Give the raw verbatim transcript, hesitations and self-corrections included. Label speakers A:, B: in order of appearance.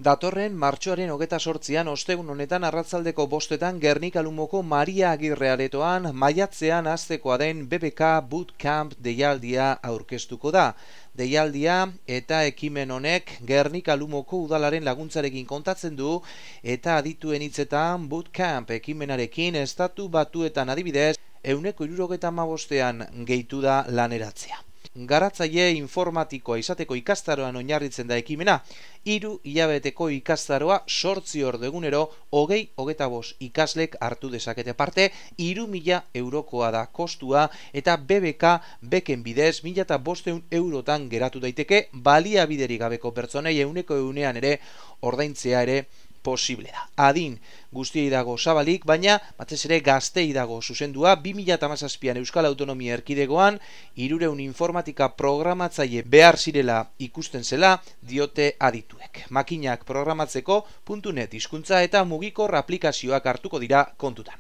A: Datorren martxoaren hogeta sortzian ostegun honetan arratsaldeko bostetan Gernika Lumoko Maria Agirre aretoan maiatzean hastekoa den B B K Bootcamp deialdia aurkeztuko da. Deialdia eta ekimen honek Gernika Lumoko udalaren laguntzarekin kontatzen du eta adituen hitzetan Bootcamp ekimenarekin estatu batuetan adibidez ehuneko hirurogeta hamabostean gehitu da laneratzea. Garatzaile informatikoa izateko ikastaroan oinarritzen da ekimena, hiru hilabeteko ikastaroa zortzi ordu egunero, hogei hogeita bost ikaslek hartu dezakete parte, hiru mila eurokoa da kostua eta B B K beken bidez mila bostehun eurotan geratu daiteke, baliabiderik gabeko pertsonei ehuneko ehunean ere ordaintzea ere posible da. Adin guztiei dago zabalik, baina batez ere gaztei dago zuzendua. Bi mila hamazazpian Euskal Autonomia Erkidegoan hirurehun informatika programatzaile behar zirela ikusten zela diote adituek. Makinak programatzeko .net hizkuntza eta mugikor aplikazioak hartuko dira kontutan.